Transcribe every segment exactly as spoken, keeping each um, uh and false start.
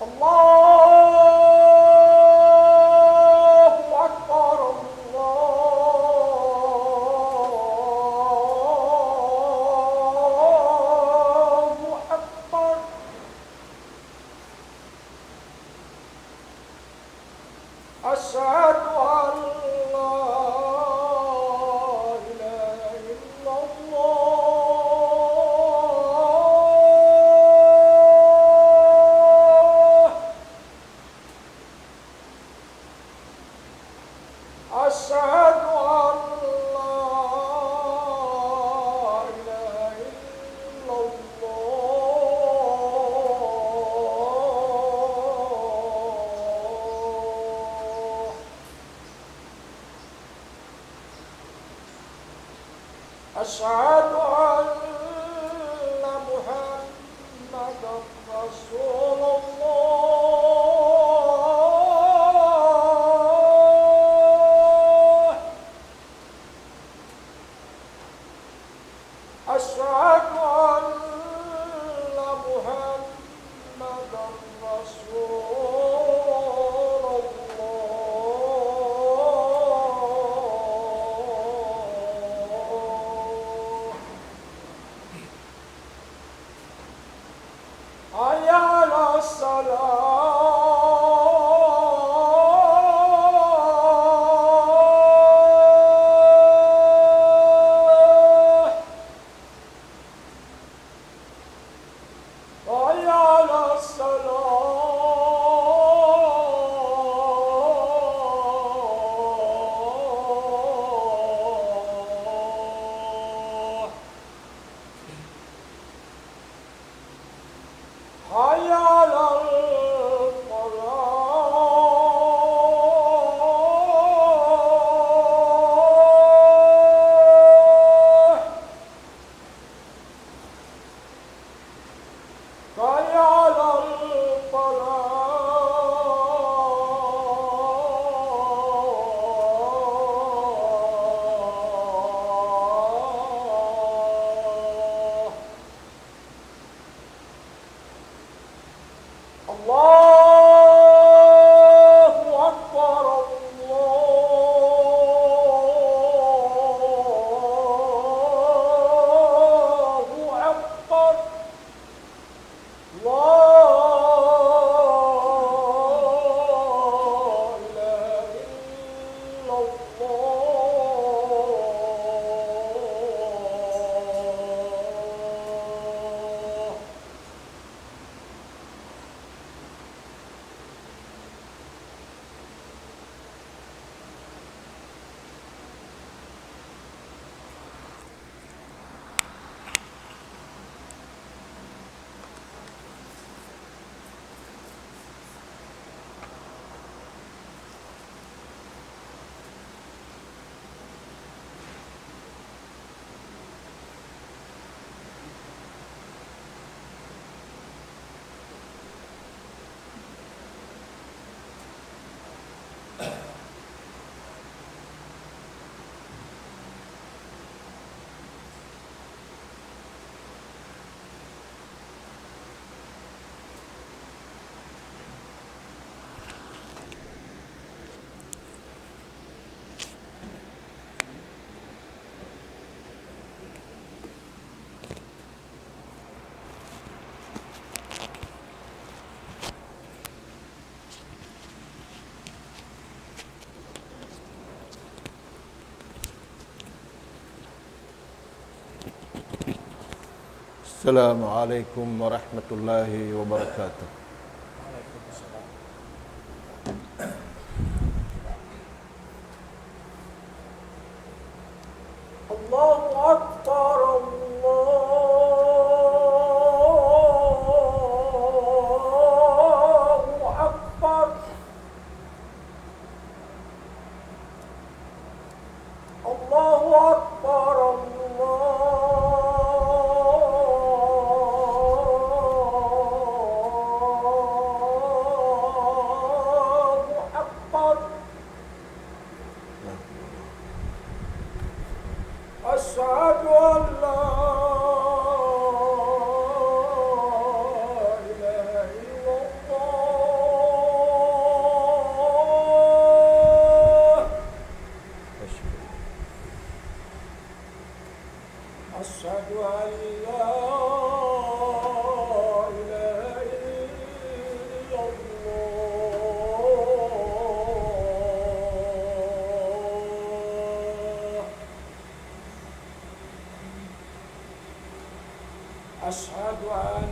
الله أكبر، الله أكبر. أشهد أن لا إله إلا الله. أشهد أن لا إله إلا الله. أشهد أن محمدا رسول الله. أشهد أن محمدا رسول الله. حي على الصلاة. حي على الصلاة. حي على الفلاح. حي على الفلاح. الله أكبر، الله أكبر. لا إله إلا الله. السلام عليكم ورحمة الله وبركاته. الله أكبر، الله أكبر. الله أكبر، الله أن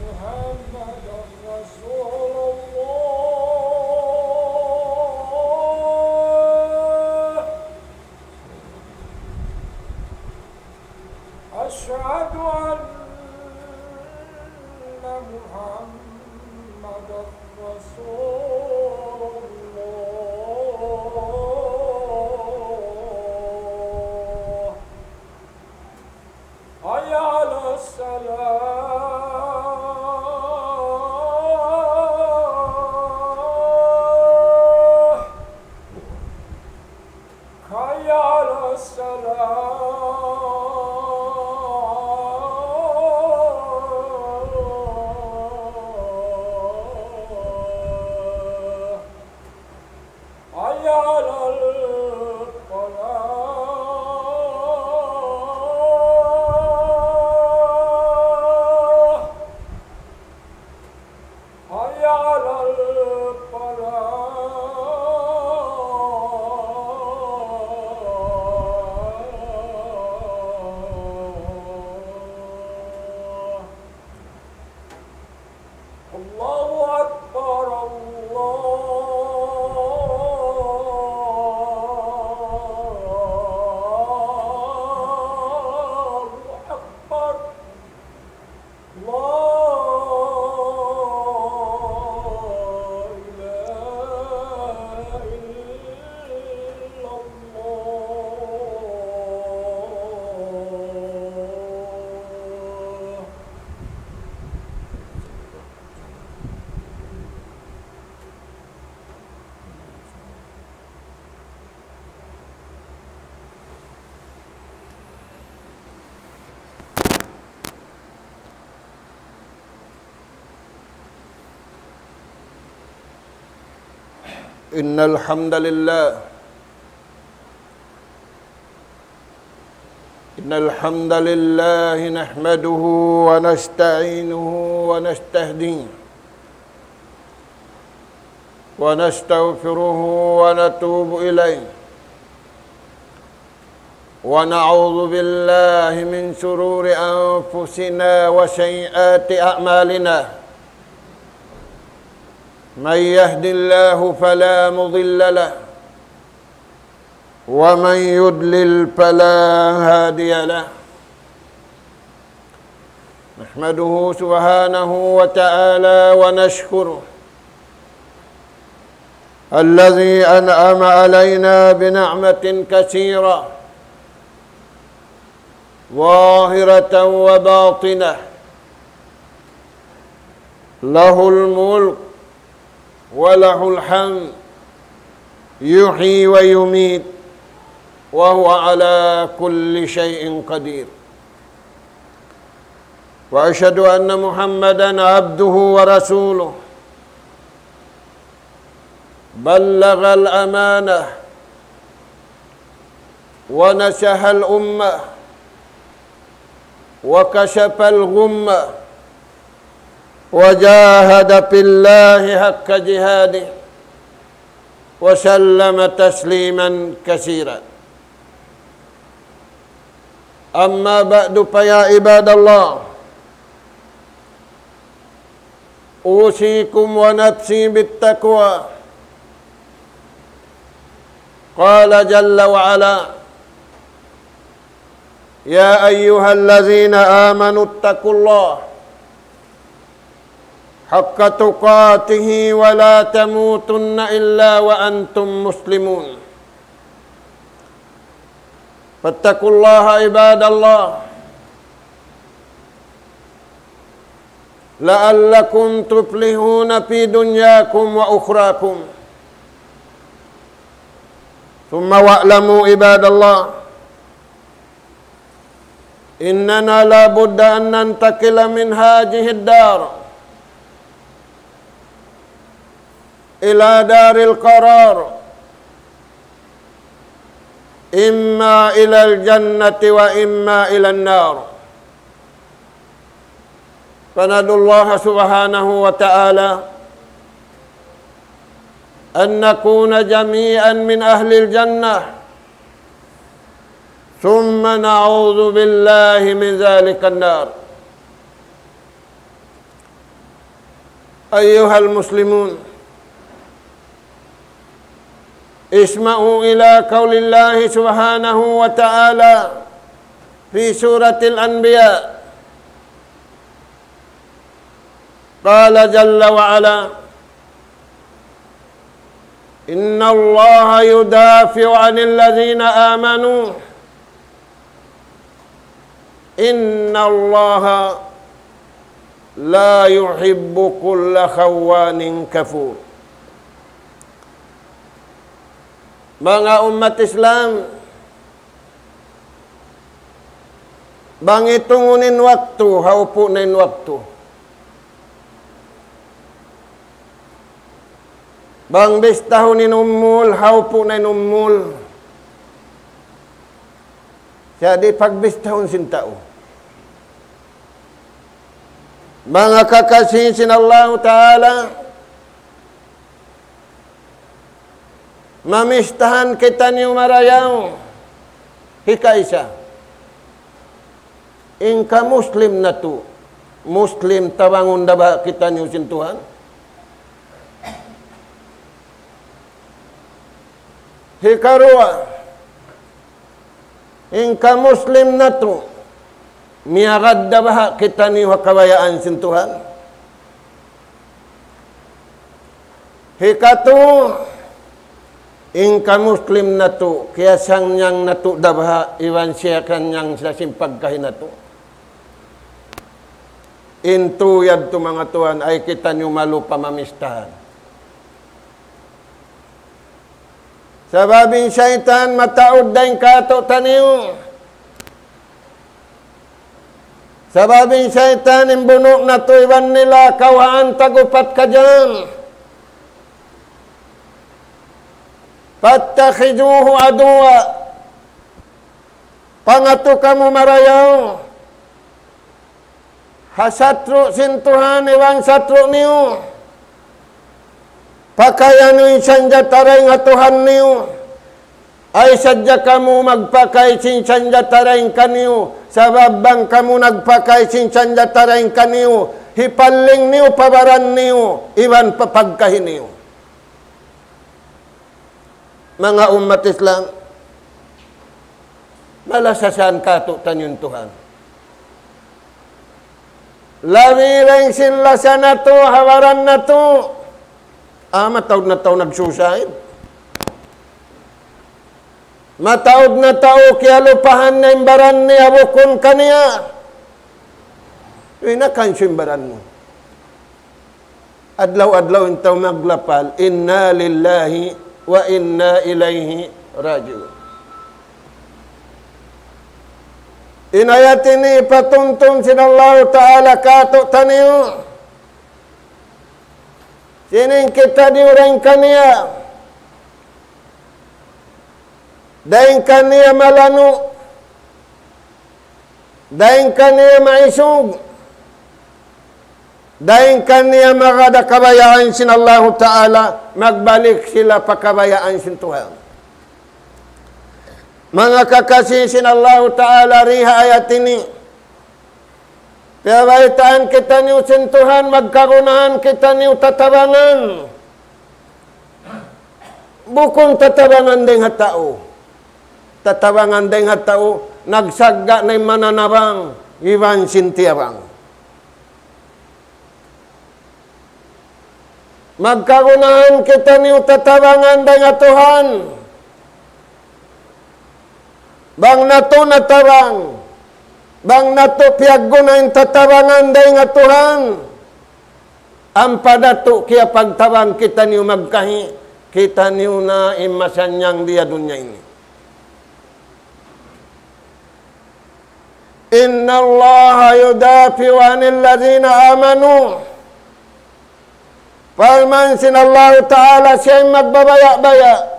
محمدا رسول الله. أشهد أن محمدا رسول الله. حي على الصلاة. حي على الصلاة. حي على الفلاح. حي على الفلاح. الله أكبر، الله أكبر. لا إله إلا الله. إن الحمد لله، إن الحمد لله نحمده ونستعينه ونستهديه ونستغفره ونتوب إليه، ونعوذ بالله من شرور أنفسنا وسيئات أعمالنا. من يهد الله فلا مضل له، ومن يضلل فلا هادي له. نحمده سبحانه وتعالى ونشكره الذي أنعم علينا بنعمة كثيرة ظاهرة وباطنة، له الملك وله الحمد، يحيي ويميت، وهو على كل شيء قدير. وأشهد أن محمدا عبده ورسوله، بلغ الأمانة ونصح الأمة وكشف الغمة وجاهد في الله حق جهاده وسلم تسليما كثيرا. أما بعد، فيا عباد الله، أوصيكم ونفسي بالتقوى. قال جل وعلا: يا أيها الذين آمنوا اتقوا الله حق تقاته ولا تموتن إلا وأنتم مسلمون. فاتقوا الله عباد الله لعلكم تفلحون في دنياكم وأخراكم. ثم واعلموا عباد الله، إننا لا بد أن ننتقل من هذه الدار إلى دار القرار، إما إلى الجنة وإما إلى النار. فندعو الله سبحانه وتعالى أن نكون جميعا من أهل الجنة، ثم ونعوذ بالله من ذلك النار. أيها المسلمون، اسمعوا إلى قول الله سبحانه وتعالى في سورة الأنبياء. قال جل وعلا: إن الله يدافع عن الذين آمنوا، إن الله لا يحب كل خوان كفور. Manga ummat Islam, bang itungun in waktu, ha upu' na in waktu. Bang bistahun in umul, ha upu' na in umul. Sa' di' pagbistahun sin tau. Manga kakasi sin Allahu Ta'ala, mamistahan kitaniyu marayaw. Hikaisa, in ka Muslim natu', Muslim, tabangun da baha' kitaniyu sin Tuhan? Hikaruwa, in ka Muslim natu', miyagad da baha' kitaniyu ha kabayaan sin Tuhan? Hikatu, in ka Muslim natu', kiyasannyang natu' da baha' iban siyasannyang sa sin pagkahi natu'? In tu yadtu, manga tuwan, ay kitaniyu malupa mamistahan. Sabab in saytan mataud dayn kātu'niyu. Sabab in saytan in bunu' natu' iban nila kawhaan tag-upat ka jam. فاتخذوه عدوا. Pangatu kamu marayaw ha satru' sin Tuhan iban satru' niyu. Pakaya niyu in sanjata dayn ha Tuhan niyu. Ay sadja kamu magpakay sin sanjata dayn kaniyu, sabab bang kamu nagpakay sin sanjata dayn kaniyu, hipalling niyu pa baran niyu, iban pa pagkahi niyu. Manga ummat Islam, malasahan kātu'niyu in Tuhan. Labi dayn sin lasa natu', ha baran natu'. Ah, mataud na tau nag-suicide. Mataud na tau kiyalupahan na in baran niya bukun kaniya. Uy, nakansu in baran mu. Adlaw-adlaw in tau maglapal, إنا لله وإنا إليه راجعون. In ayat ini patumtum sin Allahu Ta'ala kātu'niyu. Sin in kitaniyu dayn kaniya, dayn kaniya malanu', dayn kaniya maisug, dayn kaniya magad ha kabayaan sin Allahu Ta'ala, magbalik sila pa kabayaan sin Tuhan. Manga kakasi sin Allahu Ta'ala, di ha ayat ini, piyabaytaan kitaniyu sin Tuhan, magkagunahan kitaniyu tatabangan. Bukun tatabangan dayn ha tau. Tatabangan dayn ha tau, nagsagga' na in mananabang, iban sin tiyabang. Magkagunahan kitaniyu tatabangan dayn ha Tuhan. Bang natu' natabang, bang natu' piyagguna in tatabangan dayn ha Tuhan, ampa natu' kiyapagtabang kitaniyu magkahi, kitaniyu na in masannyang di ha dunya ini. إن الله يدافع عن الذين آمنوا. Parman sin Allahu Ta'ala, siya in magbabaya'-baya'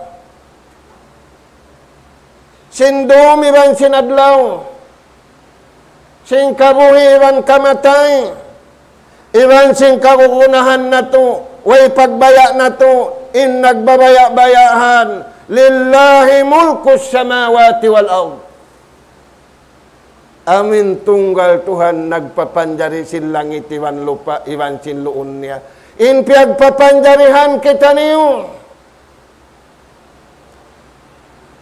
sin dum iban sin adlaw, sin kabuhi' iban kamatay, iban sin kagunahan natu', way pagbaya' natu', in nagbabaya'-bayaan, لله ملك السماوات والأرض. Amu in tunggal Tuhan nagpapanjari sin langit iban lupa' iban sin luun niya. In piyagpapanjarihan kitaniyu.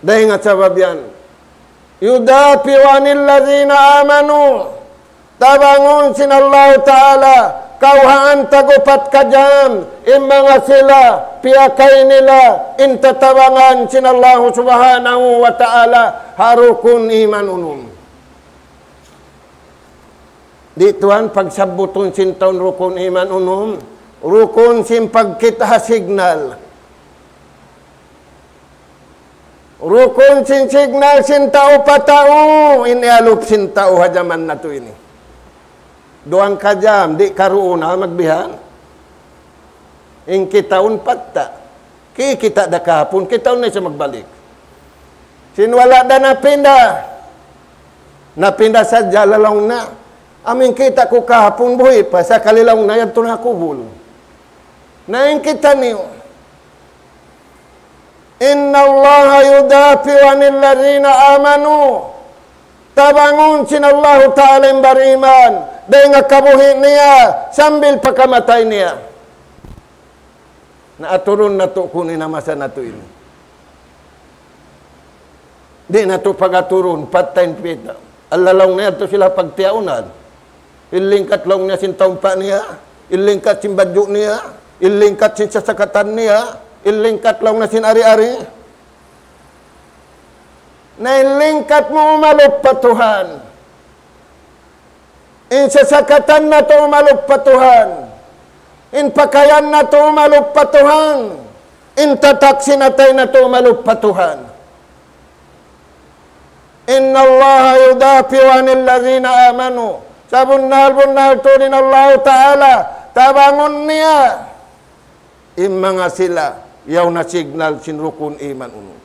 Dayn ha sabab yan. يدافع عن الذين آمنوا. Tabangun sin Allahu Ta'ala, kawhaan tagupat ka jam, in manga sila, piyakay nila, in tatabangan sin Allahu Subhanahu wa Ta'ala, ha rukun iman unum. Di' tuwan pagsabbutun sin tau in rukun iman unum, rukun sin pagkita' ha signal. Rukun sin signal sin tau pa tau, in iyalup sin tau ha jaman natu' ini. Duwang ka jam, di' karuun na magbihan. In kitaun patta'. Kikita' da kahapun, kitaun na isab magbalik. Sin wala' da napinda. Napinda sadja laung na. Amu in kita' ku kahapun buhi' pa, sakali laung na yadtu na kubul. Na in kitaniyu. إن الله يدافع عن الذين آمنوا. Tabangun sin Allahu Ta'ala in bariman. Dayn ha kabuhi' niya, sambil pa kamatay niya. Na aturun natu' kunu' in masa natu' ini. Di' natu' pag-aturun, patta' in pita'. Allalaw na yadtu sila pagtiyaunan. In lingkat laung niya sin taumpa' niya, in lingkat sin badju' niya, in lingkat sin sasakatan niya, in lingkat laung niya sin ari-ari. Na in lingkat mu umalup pa Tuhan. In sasakatan natu' umalup pa Tuhan. In pakayan natu' umalup pa Tuhan. In tatak sin atay natu' umalup pa Tuhan. إن الله يدافع عن الذين آمنوا. Sabunnal-bunnal tuud in Allahu Ta'ala, tabangun niya in manga sila, yaun na signal sin rukun iman unum.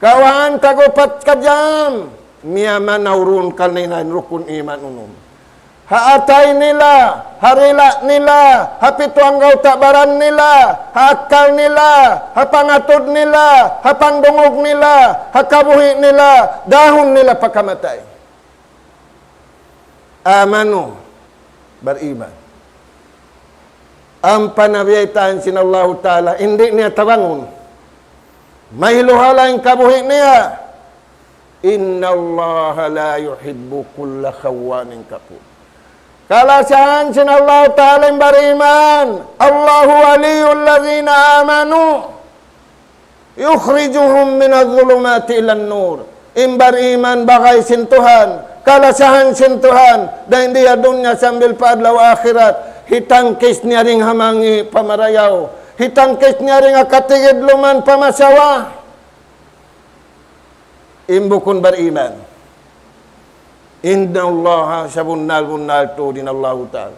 Kawhaan tagupat ka jam, miyamanaw duun kanila in rukun iman unum. Ha atay nila, ha dila' nila, ha pitu anggawta' baran nila, ha akkal nila, ha pangatud nila, ha pangdungug nila, ha kabuhi' nila, dahun nila pa kamatay. Amanu, bariman. Ampa na biyaytaan sin Allahu Ta'ala, in di' niya tabangun. Mahiluhala in kabuhi' niya. إن الله لا يحب كل خوان كفور. Kalasahan sin Allahu Ta'ala in bariman. الله ولي الذين آمنوا يخرجهم من الظلمات إلى النور. In bariman bagay sin Tuhan, kalasahan sin Tuhan, dayn di ha dunya sambil pa adlaw akhirat, hitangkis niya dayn ha mangi' pa marayaw, hitangkis niya dayn ha katigidluman pa masawa. In bukun bariman. إن الله, sabunnal-bunnal tuud in Allahu Ta'ala.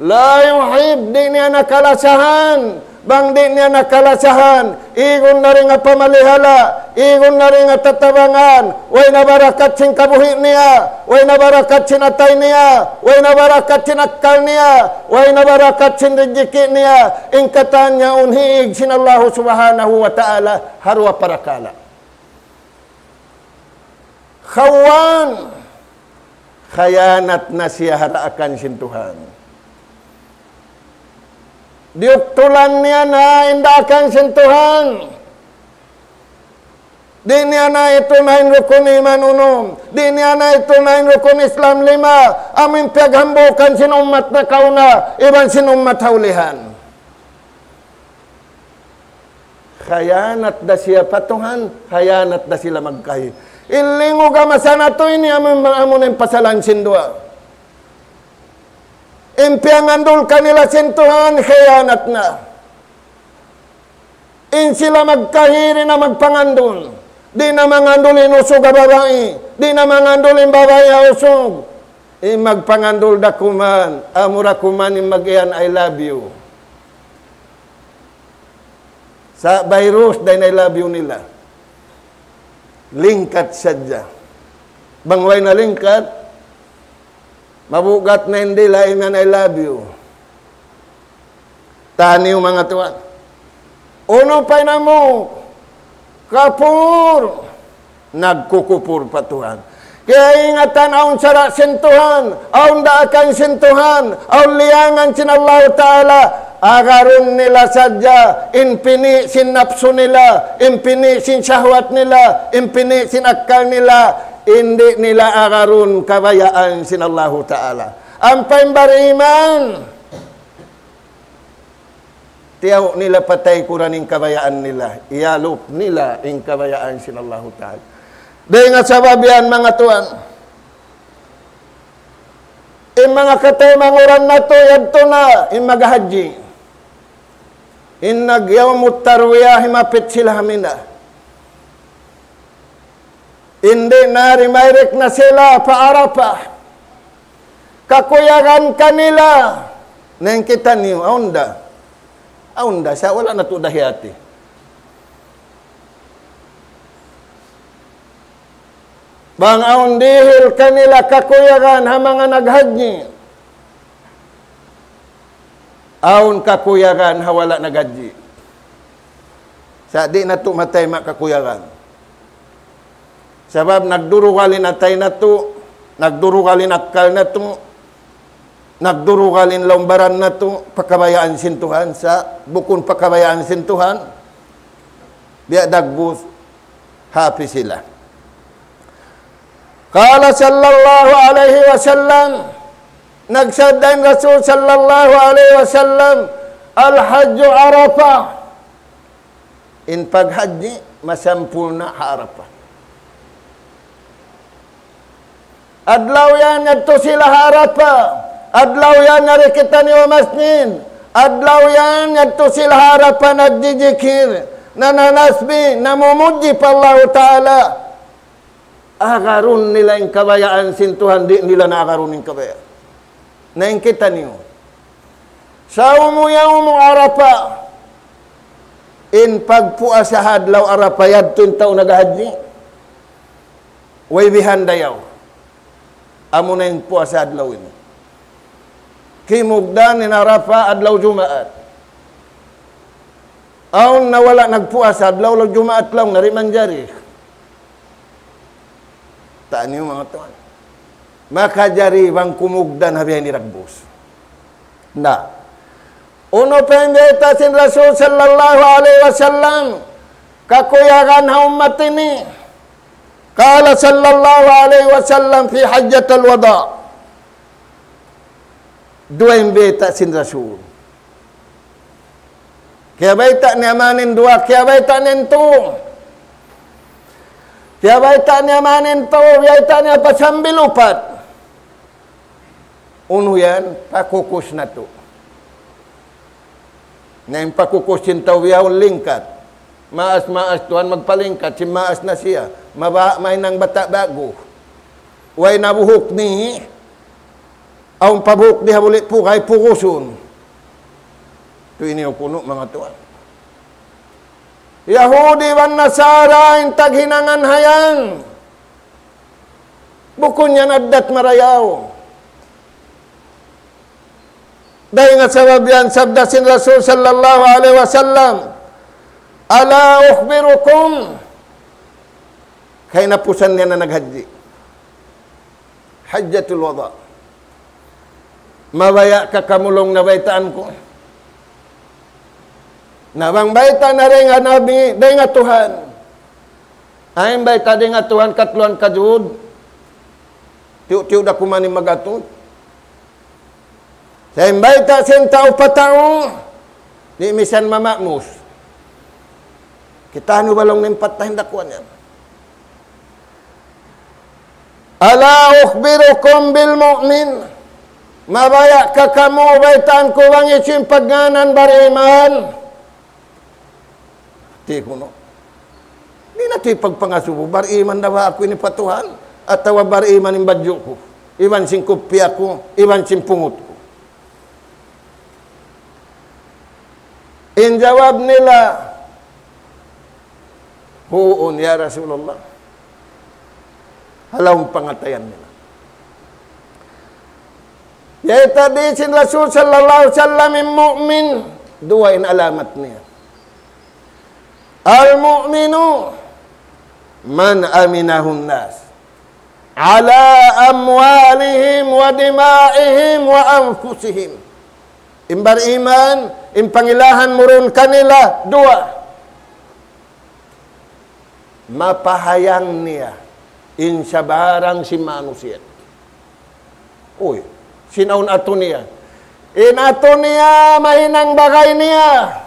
لا يحب, di' niya na kalasahan. Bang di' niya na kalasahan, igun na dayn ha pamalihala, igun na dayn ha tatabangan, way na barakat sin kabuhi' niya, way na barakat sin atay niya, way na barakat sin akkal niya, way na barakat sin rijiki' niya, in katan yaun hiig sin Allahu Subhanahu wa Ta'ala, ha duwa parakala'. Khawan, khayanat na siya ha daakan sin Tuhan. Diyuktulan niya na in daakan sin Tuhan. Di' niya na itunayn rukun iman unum. Di' niya na itunayn rukun Islam lima. Amu in piyaghambuukan sin ummat nakauna, iban sin ummat ha ulihan. Khayanat da siya pa Tuhan, khayanat da sila magkahi. In lingug ha masa natu' ini amu, amu na in pasalan sin duwa. In piyangandul kanila sin Tuhan, khayanat na. In sila magkahi di' na magpangandul. Di' na mangandul in usug ha babai. Di' na mangandul in babai ha usug. In magpangandul da kuman, amura kuman in mag-iyan, "I love you." Sa' virus da in "I love you" nila. Lingkat sadja. Bang way na lingkat, mabugat na in dila' imiyan "I love you." Taniyu manga tuwan. Unu pa in amu? Kapur. Nagkukupur pa Tuhan. Kaingatan awn sara' sin Tuhan, awn daakan sin Tuhan, awn liyangan sin Allahu Ta'ala, agarun nila sadja in pini' sin napsu nila, in pini' sin shahwat nila, in pini' sin akkal nila, di' nila agarun kabayaan sin Allahu Ta'ala. Ampa in bariman, tiyaw nila pa taykuran in kabayaan nila, iyalup nila in kabayaan sin Allahu Ta'ala. Dayn ha sabab yan, manga tuwan, in manga kataymanghuran natu', yadtu na in maghajji. In nag-yawmut tarwiyah, himapit sila ha Mina. Di' na, direct na sila pa Arafah. Kakuyagan kanila. Na in kitaniyu, awn da. Awn da, sa' wala' natu' dahiyati. Bang awn dihil kanila kakuyagan ha manga naghajji, awn kakuyagan ha wala' naghajji. Sa' di' natu' matayma' kakuyagan. Sabab nagdurugal in atay natu', nagdurugal in akkal natu', nagdurugal in lawm baran natu', pa kabayaan sin Tuhan, sa' bukun pa kabayaan sin Tuhan, biya' dagbus, hapi sila. قال صلى الله عليه وسلم, nagsabda in Rasul sallallahu alayhi wasallam, الحج عرفة. In paghajji masampurna' ha Arafah. Adlaw yan yadtu sila ha Arafah. Adlaw yan yari kitaniyu ha masjid. Adlaw yan yadtu sila ha Arafah nagjijikir, nananasbih, namumudji pa Allahu Ta'ala. Agarun nila in kabayaan sin Tuhan, di' nila na agarun in kabayaan. Na in kitaniyu. صوم يوم عرفة. In pagpuasa ha adlaw Arafah, yadtu in tau naghajji. Way bihan dayaw. Amuna in puasa adlaw ini. Kimugdan in Arafah adlaw Jumaat. Awn na wala' nagpuasa adlaw, adlaw Jumaat laung, di' manjari. Taniyu manga tuwan. Makajari bang kumugdan ha bihaini dagbus? Na. Unu pa in bayta' sin Rasul sallallahu alayhi wasallam kakuyagan ha ummat ini? قال صلى الله عليه وسلم في حجة الوداع. Duwa in bayta' sin Rasul. Kiyabayta' niya mayan in duwa, kiyabayta' niya in tū. Kiyabayta' niya mayan in tū, kiyabayta' niya pa sambil upat. Unu yan, pakukus natu'. Na in pakukus sin tau bihaun lingkat. Maas-maas tuwan magpalingkat, sin maas na siya. Maba-, mahinang bata' ba'gu. Way na buhuk ni, awn pa buhuk di ha buli' pugay, pugusun. Tu ini kunu' manga tuwan. Yahudi iban Nasara in taghinangan hayan. Bukun yan addat marayaw. Dayn ha sabab yan sabda sin Rasul sallallahu alayhi wasallam, ألا أخبركم؟ Kahinapusan niya na naghajji. Hajjatul wada'. Mabaya' ka kamu laung na baytaan ku? Na bang bayta' na dayn ha Nabi, dayn ha Tuhan. Ay, in bayta' dayn ha Tuhan, katluan kajud. Tiyu'-tiyu' da kuman in mag-atud. Sa' in bayta' sin tau pa tau, di' misan mama'mus. Kitaniyu ba laung niya in pattahin dakuan yan. ألا أخبركم بالمؤمن؟ Mabaya' ka kamu, baytaan ku bang hisiyu in pagngānan bariman? Di' kunu'. Di' natu' hipagpangasubu, bariman na ba aku ini pa Tuhan? Atawa bariman in badju' ku, iban sin kupiya ku, iban sin pungut ku? In jawab nila, huun, ya Rasulullah. Ha lawm pangatayan nila. Yari tadi sin Rasul sallallahu alayhi wasallam in mu'min, duwa in alamat niya. المؤمن من أمنه الناس. على أموالهم ودمائهم وأنفسهم. In bariman, in pangilahan mu duun kanila, duwa. Mapahayang niya in sabarang sin manusiya'. Uy, sin awn atu niya. In atu niya, mahinang bagay niya.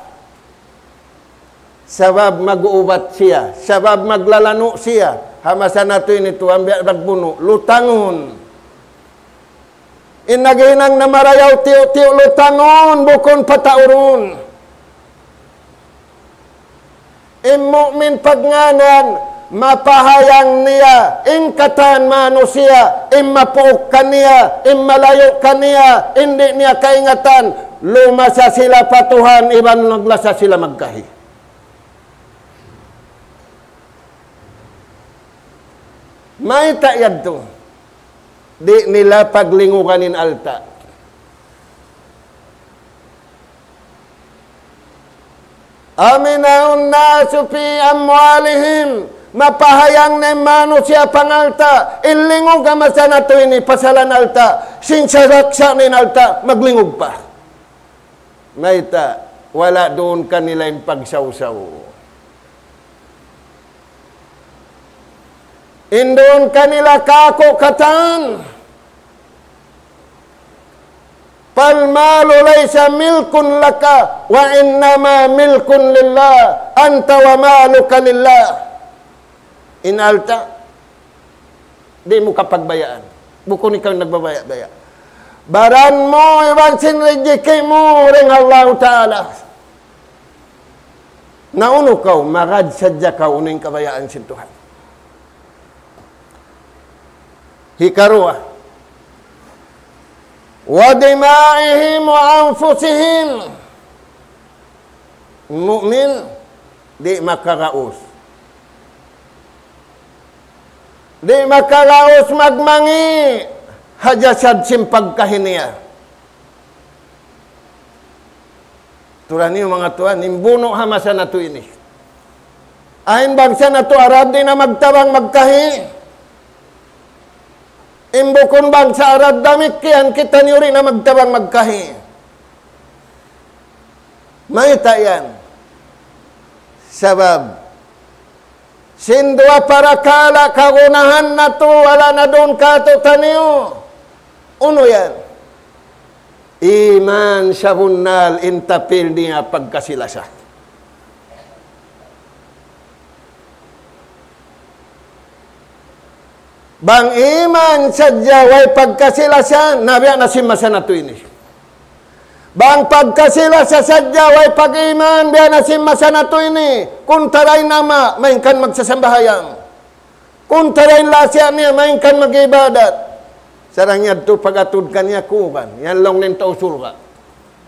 Sabab mag-uubat siya, sabab maglalanu' siya. Ha masa natu' ini tuwan, biya' nagbunu', lutangun. In naghinang na marayaw tiyu'-tiyu' lutangun, bukun pataurun. In mu'min pagngānan, mapahayang niya, in katan manusiya', in mapuuk kaniya, in malayu' kaniya, in di' niya kaingatan, lumasa sila pa Tuhan, iban naglasa sila magkahi. Mayta' yadtu? Di' nila paglingugan in alta'. أمن الناس في أموالهم. Mapahayang na in manusiya' pangalta', in lingug ha masa natu' ini pasalan alta', sin saraksa' na in alta', maglingug pa. Mayta', wala' duun kanila in pagsawsaw. In duun kanila kāku' katan. فالمال ليس ملك لك وإنما ملك لله أنت ومالك لله. In alta', di' mu kapagbayaan. Bukun ikaw in nagbabaya'-baya'. Baran mu iban sin rijiki' mu dayn ha Allahu Ta'ala. Na unu kaw, magad sadja kaw unu in kabayaan sin Tuhan. Hikaruwa, ودمائهم وأنفسهم. Mu'min, di' makaraus. Di' makaraus magmangi' ha jasad sin pagkahi niya. Tuud niyu manga tuwan, in bunu' ha masa natu' ini. Awn bangsa natu' Arab di' na magtabang magkahi. In bukun bangsa Arab damikkiyan kitaniyu di' na magtabang magkahi. Mayta' yan? Sabab sin duwa parakala' kagunahan natu' wala' na duun kātu'niyu. Unu yan? Iman sabunnal in tapil niya pagkasi-lasa. Bang iman sadja way pagkasi-lasa, na biya' na sin masa natu' ini. Bang pagkasi-lasa sadja way pag-iman, biya' na sin masa natu' ini. Kuntara in ama', malayngkan magsasambahayang. Kuntara in lasa niya, malayngkan mag-ibadat. Sarang yadtu pag-atud kaniya kuwan, yan laung niya in tau surga'.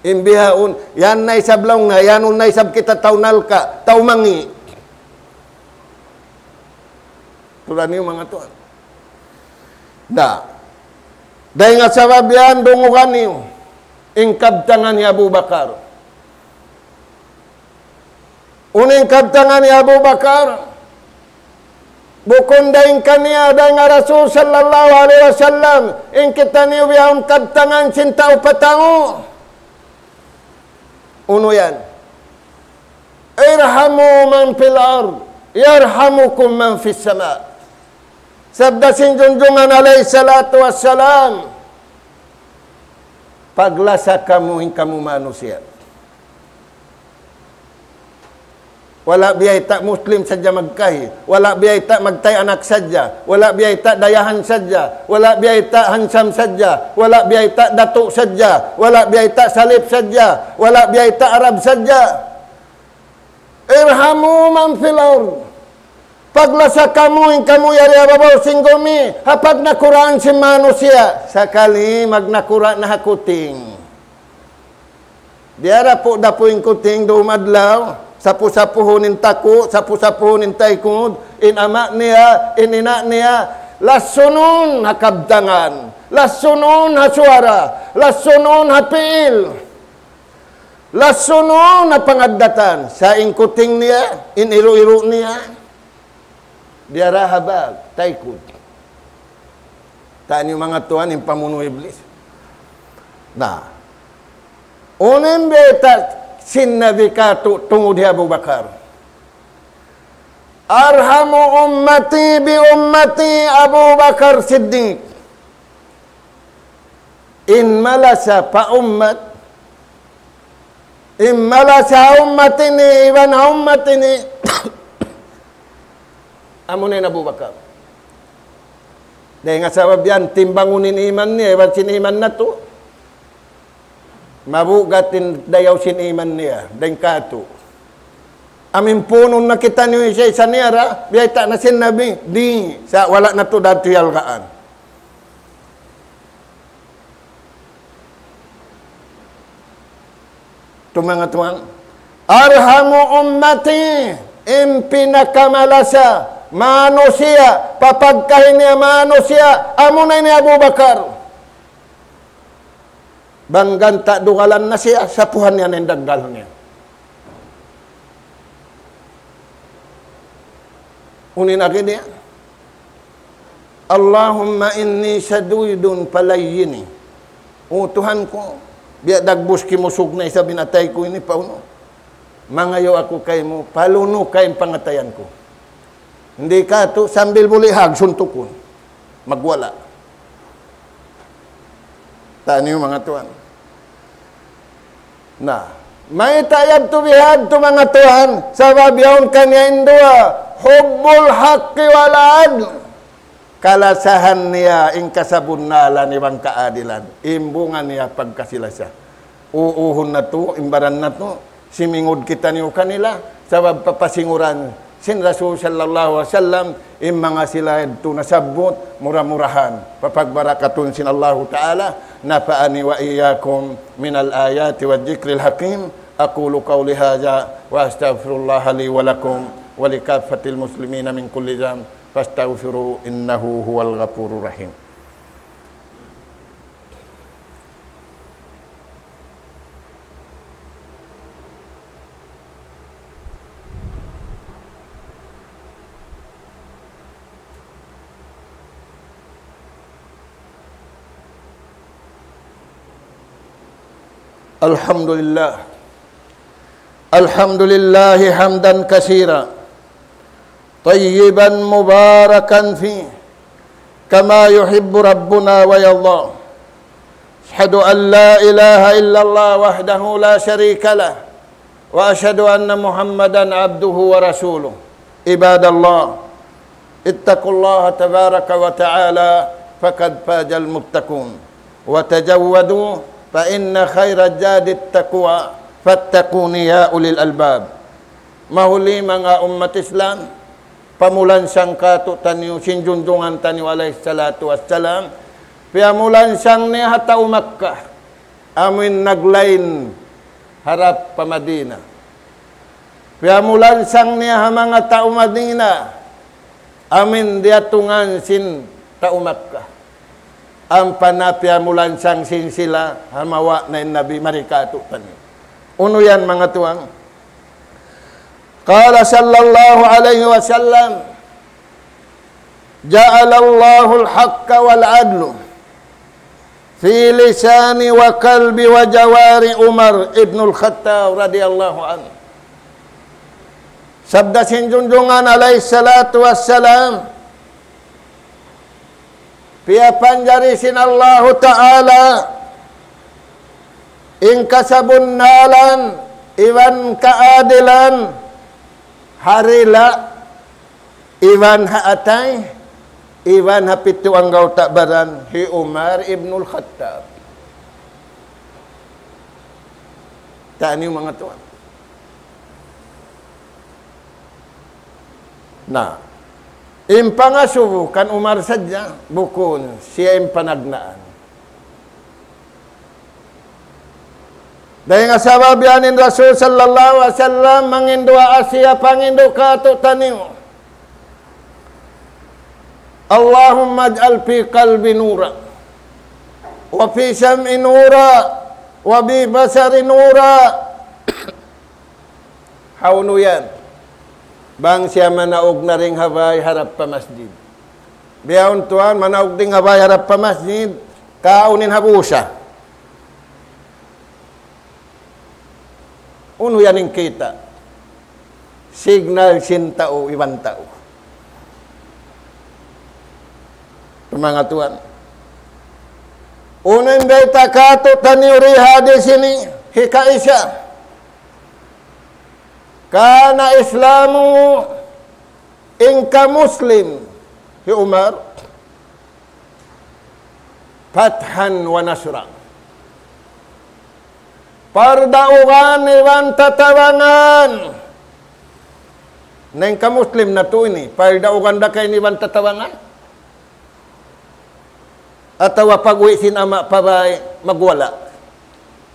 In bihaun, yan na isab laung niya, yan na isab kita tau narka', tau mangi'. Tuud niyu manga tuwan. Na, dayn ha sabab yan, dungugan niyu in kabtangan hi Abu Bakar. Unu in kabtangan hi Abu Bakar? Bukun dayn kaniya, dayn ha Rasul sallallahu alayhi wasallam, in kitaniyu bihaun kabtangan sin tau pa tau. Unu yan? ارحموا من في الأرض يرحمكم من في السماء. Sabda sin Junjungan alayhi salatu wassalam, paglasa kamu in kamu manusiya'. Wala' biyayta' Muslim sadja magkahi, wala' biyayta' magtay anak sadja, wala' biyayta' dayahan sadja, wala' biyayta' hansam sadja, wala' biyayta' datu' sadja, wala' biyayta' salip sadja, wala' biyayta' Arab sadja. ارحموا من في الأرض. Paglasa kamu in kamu yari ha babaw sin gumi, ha pagnakuraan sin manusiya'. Sakali magnakura' na ha kuting. Biya' dapu'-dapu' in kuting dum adlaw, sapu-sapuhun in taku', sapu-sapuhun in taykud, in ama' niya, in ina' niya, lasunun ha kabtangan, lasunun ha suwara, lasunun ha piil. Lasunun na pangaddatan, sa' in kuting niya, in iru-iru niya, diyara ha bag, taykud. Taniyu manga tuwan in pamunu' Iblis. Na. Unu in bayta' sin Nabi katu' tungud hi Abu Bakar. أرحم أمتي بأمتي أبو بكر الصديق. In malasa pa ummat, in malasa ha ummat ini, iban ha ummat ini, amuna in Abu Bakar. Dayn ha sabab yan, timbangun in iman niya, iban sin iman natu'. Mabugat in dayaw sin iman niya, dayn katu'. Amu in punun na kitaniyu isa-isa niya ra, biyayta' na sin Nabi, di', sa' wala' natu' da tuud hiyalgaan. Tuud manga tuwan. أرحم أمتي, in pinakamalasa manusiya', pa pagkahi niya manusiya', amuna in hi Abu Bakar. Bang ganta' dugalan na siya, sapuhan niya na in daggal niya. Unu in agi niya? اللهم إني شديد فليني. O Tuhan ku, biya' dagbus kimusug na isab in atay ku ini pa unu. Mangayu' aku kaymu, palunu ka in pangatayan ku. Di' katu' sambil bulihag suntukun. Magwala'. Taniyu manga tuwan. Na, mayta' yadtu bihadtu manga tuwan, sabab yaun kaniya in duwa, حب الحق والعدل. Kalasahan niya in kasabunnalan iban kaadilan. In bunga niya pagkasi-lasa. Uuhun natu', in baran natu', simingud kitaniyu kanila, sabab papasinguran sin Rasul sallallahu alayhi wasallam, in manga sila yadtu nasabbut, mura-murahan, papagbarakatun sin Allahu Ta'ala, نفعني وإياكم من الآيات والذكر الحكيم. أقول قولي هذا وأستغفر الله لي ولكم ولكافة المسلمين من كل ذنب فاستغفروه إنه هو الغفور الرحيم. الحمد لله. الحمد لله حمدا كثيرا طيبا مباركا فيه كما يحب ربنا ويرضى. أشهد أن لا إله إلا الله وحده لا شريك له، وأشهد أن محمدا عبده ورسوله. عباد الله، اتقوا الله تبارك وتعالى فقد فاز المتقون، وتزودوا فإن خير الزاد التقوى، فاتقون يا أولي الألباب. Mahuli manga ummat Islam, pamulansang kātu'niyu sin junjungan taniyu alayhi salatu wassalam, piyamulansang niya ha tau Makkah, amuin naglain harap pa Madina. Piyamulansang niya ha manga tau Madina, amuin diyatungan sin tau Makkah. Ampa na piyamulansang sin sila ha mawa' na in Nabi mari kātu'niyu. Unu yan manga tuwan? قال صلى الله عليه وسلم: جعل الله الحق والعدل في لسان وقلب وجوارح عمر بن الخطاب رضي الله عنه. Sabda sin junjungan alayhi salatu wassalam, piyapanjari sin Allahu Ta'ala in kasabunnalan iban kaadilan ha dila' iban ha atay iban ha pitu anggawta' baran hi Umar ibnul Khattab. Taniyu manga tuwan. Na, in pangasubu kan Umar sadja, bukun siya in panagnaan. Dayn ha sabab yan in Rasul sallallahu alayhi wasallam manginduwaa siya pangindu' kātu'niyu. اللهم اجعل في قلبي نورا وفي سمعي نورا وفي بصري نورا. Hawnu yan? Bang siya manaug na dayn ha bay harap pa masjid. Bihaun tuwan, manaug dayn ha bay harap pa masjid, kaun in habusa. Unu yan in kita'? Signal sin tau iban tau. Manga tuwan. Unu in bayta' kātu'niyu di ha hadis ini, hikaisa. كان إسلام, in ka Muslim hi Umar, فتحا ونصرا. Pardaugan iban tatabangan. Na in ka Muslim natu' ini, pardaugan da ka ini iban tatabangan? Atawa pag-uwi' sin ama' pa bay, magwala'.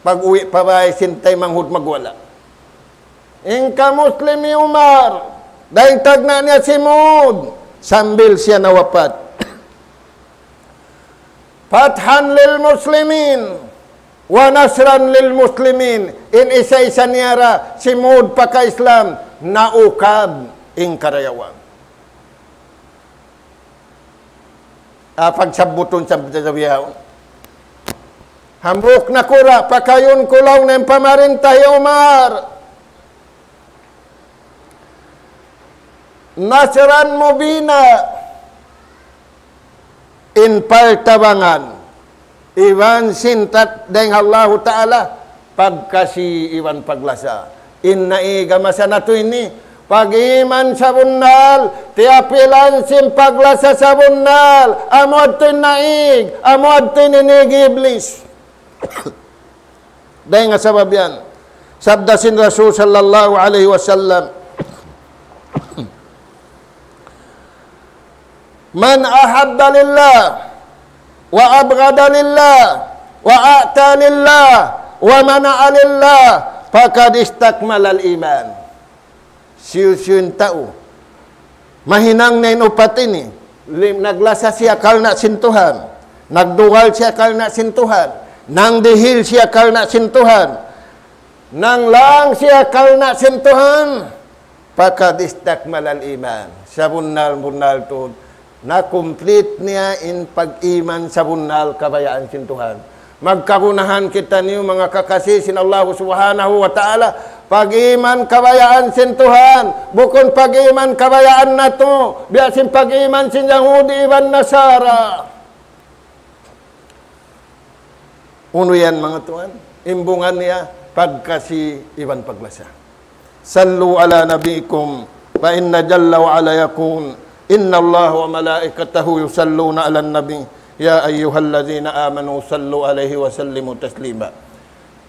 Pag-uwi' pa bay sin taymanghud, magwala'. In ka Muslim hi Umar, dayn tagna' niya si Mud, sambil siya nawapat. فتحا للمسلمين ونصرا للمسلمين. In isa-isa niya ra, si Mud paka-Islam, naukab in karayawan. Ah, pagsabbutun sa bihaun. Hambuuk nakura', pakayun ku laung niya in pamarinta hi Umar. نصرا مبينا, in paltabangan, iban sin tat-, dayn ha Allahu Ta'ala, pagkasi iban paglasa. In naig ha masa natu' ini, pag-iman sabunnal, tiyapilan sin paglasa sabunnal, amu yadtu in naig, amu yadtu in inig hi Iblis. Dayn ha sabab yan, sabda sin Rasul sallallahu alayhi wasallam, من أحب لله وأبغض لله وأعطى لله ومنع لله فقد استكمل الإيمان. Hisiyu-siyu in tau mahinang niya in upat ini, lim-, naglasa siya karna' sin Tuhan, nagdugal siya karna' sin Tuhan, nangdihil siya karna' sin Tuhan, nanglang siya karna' sin Tuhan, فقد استكمل الإيمان. Sabunnal-bunnal tuud, na-complete niya in pag-iman sabunnal kabayaan sin Tuhan. Magkagunahan kitaniyu, manga kakasi sin Allahu Subhanahu wa Ta'ala, pag-iman kabayaan sin Tuhan, bukun pag-iman kabayaan natu', biya' sin pag-iman sin Yahudi iban Nasara. Unu yan, manga tuwan? In bunga niya, pagkasi iban paglasa. صلوا على نبيكم، فإن جل وعلا يقول: إن الله وملائكته يصلون على النبي، يا أيها الذين آمنوا صلوا عليه وسلموا تسليما.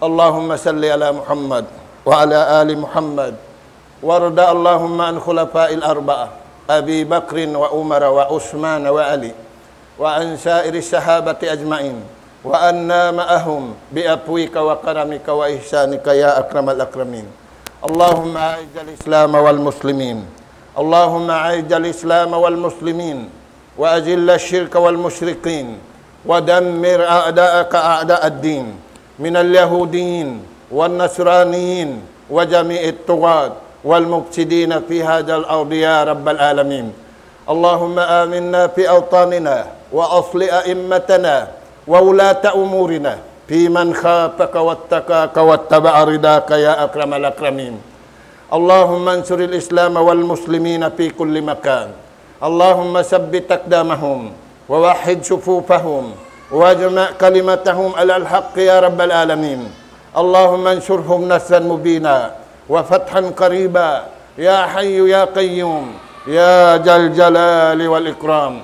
اللهم صل على محمد وعلى آل محمد، وارض اللهم عن خلفاء الأربعة، أبي بكر وعمر وعثمان وعلي، وعن سائر الصحابة أجمعين، وعنا معهم بعفوك وكرمك وإحسانك يا أكرم الأكرمين. اللهم أعز الإسلام والمسلمين. اللهم أعز الإسلام والمسلمين، وأذل الشرك والمشركين، ودمر أعداءك أعداء الدين، من اليهوديين والنصرانيين وجميع الطغاة والمفسدين في هذا الأرض يا رب العالمين. اللهم آمنا في أوطاننا، وأصلح أئمتنا وولاة أمورنا، في من خافك واتقاك واتبع رضاك يا أكرم الأكرمين. اللهم انصر الإسلام والمسلمين في كل مكان. اللهم ثبت أقدامهم، ووحد صفوفهم، واجمع كلمتهم على الحق يا رب العالمين. اللهم انصرهم نصرا مبينا، وفتحا قريبا، يا حي يا قيوم، يا ذا الجلال والإكرام.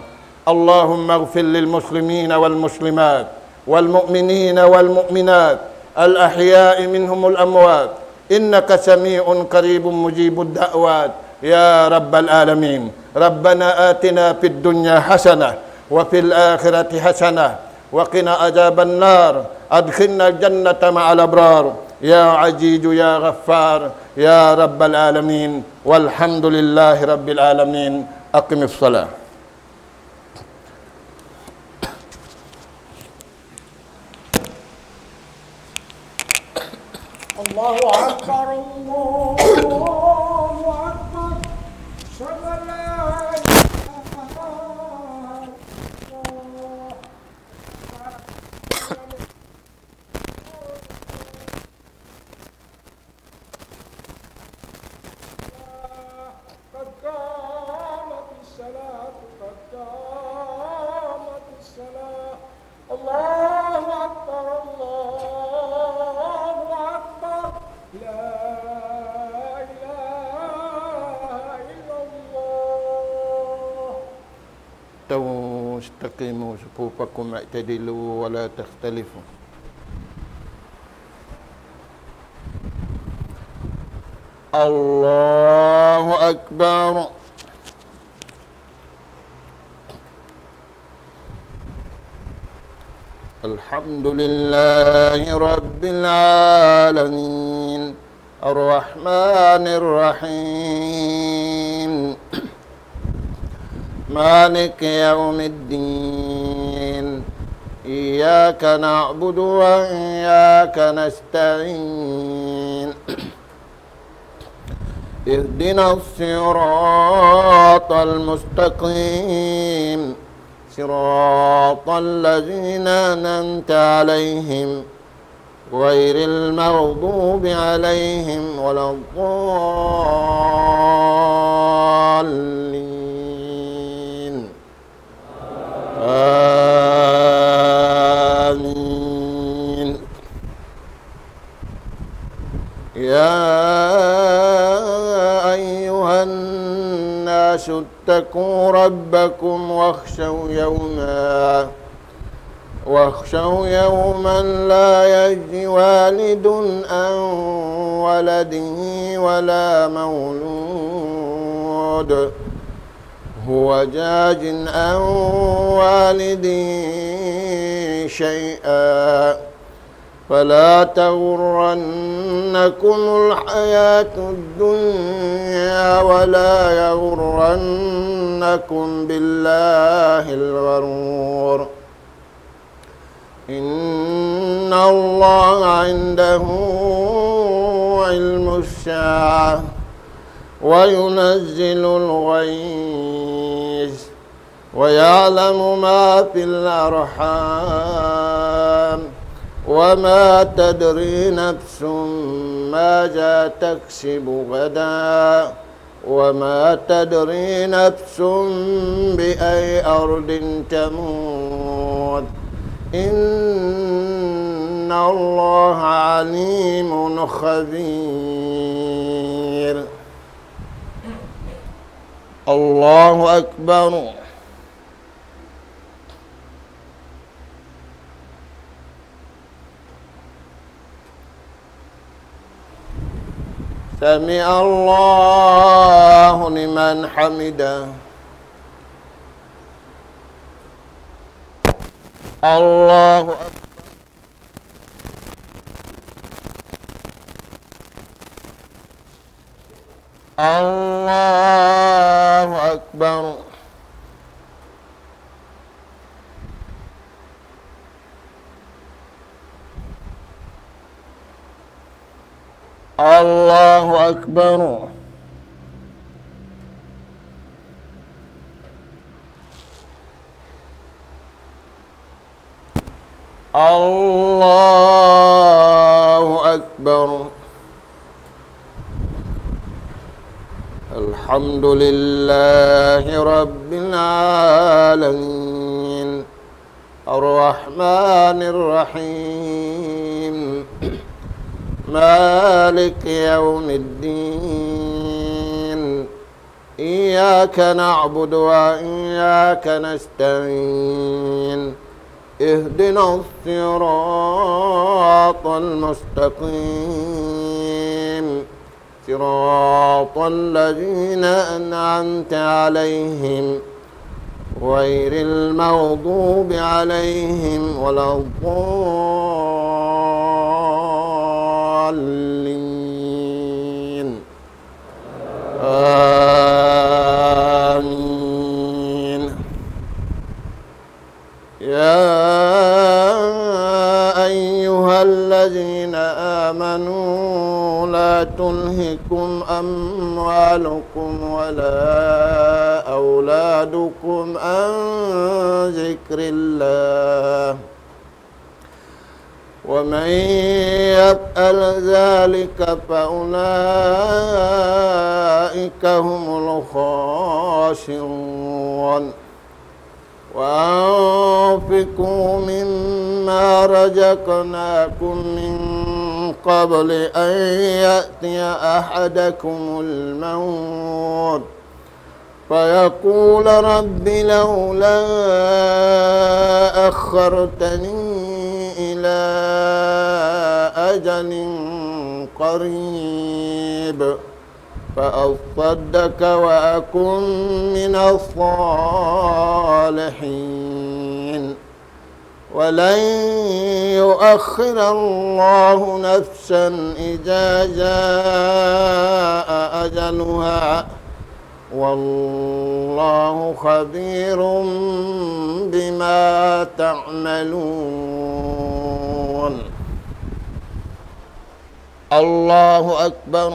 اللهم اغفر للمسلمين والمسلمات، والمؤمنين والمؤمنات، الأحياء منهم والأموات، إنك سميع قريب مجيب الدعوات يا رب العالمين. ربنا آتنا في الدنيا حسنة، وفي الآخرة حسنة، وقنا عذاب النار. أدخلنا الجنة مع الأبرار، يا عزيز يا غفار، يا رب العالمين. والحمد لله رب العالمين. أقم الصلاة. الله أكبر، الله أكبر. أشهد أن لا إله إلا الله. استووا، استقيموا، صفوفكم اعتدلوا، ولا تختلفوا. الله أكبر. الحمد لله رب العالمين. الرحمن الرحيم. مالك يوم الدين. إياك نعبد وإياك نستعين. اهدنا الصراط المستقيم. صراط الذين أنعمت عليهم غير المغضوب عليهم ولا الضالين. آمين. يا أيها الناس اتقوا ربكم واخشوا يوما، واخشوا يوما لا يجزي والد عن ولده ولا مولود هو جاز عن والده شيئا، فلا تغرنكم الحياة الدنيا ولا يغرنكم بالله الغرور. إن الله عنده علم الساعة وينزل الغيث ويعلم ما في الأرحام وما تدري نفس ماذا تكسب غدا وما تدري نفس بأي أرض تموت. إن الله عليم خبير. الله أكبر. سمع الله لمن حمده. الله أكبر. الله أكبر. الله أكبر. الله أكبر. الحمد لله رب العالمين. الرحمن الرحيم. مالك يوم الدين. إياك نعبد وإياك نستعين. اهدنا الصراط المستقيم. صراط الذين أنعمت عليهم غير المغضوب عليهم ولا الضالين. آمين. يا أيها الذين آمنوا لا تلهكم أموالكم ولا أولادكم عن ذكر الله، ومن يفعل ذلك فأولئك هم الخاسرون. وأنفقوا مما رزقناكم من قبل أن يأتي أحدكم الموت فيقول رب لولا أخرتني إلى أجل قريب فأصدق وأكن من الصالحين. ولن يؤخر الله نفسا إذا جاء أجلها، والله خبير بما تعملون. الله أكبر.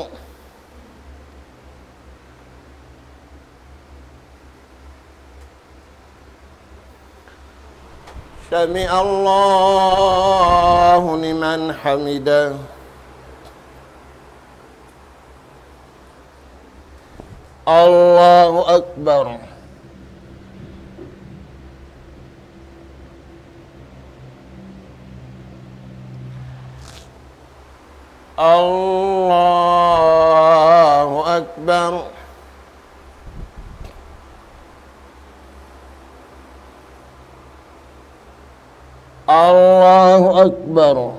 سمع الله لمن حمده. الله أكبر. الله أكبر. الله أكبر.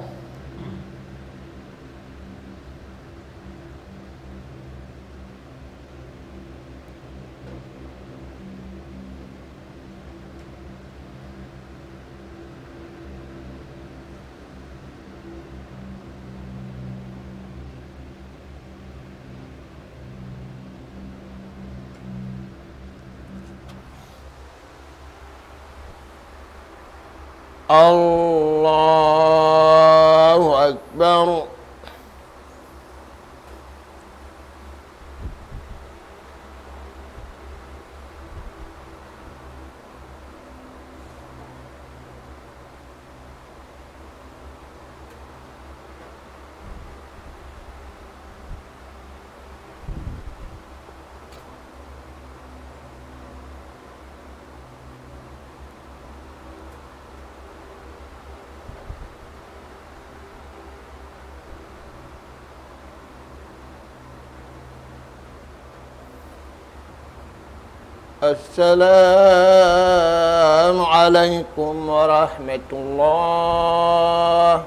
الله أكبر. السلام عليكم ورحمة الله.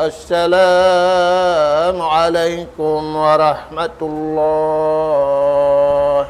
السلام عليكم ورحمة الله.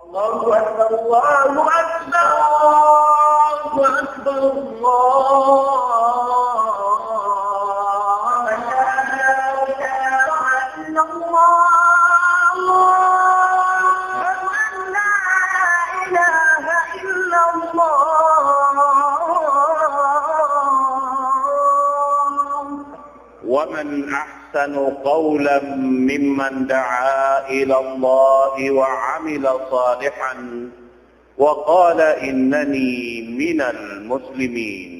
الله أكبر، الله أكبر، الله أكبر. لا إله إلا الله. ومن أحسن قولا ممن دعا إلى الله وعمل صالحا وقال إنني من المسلمين.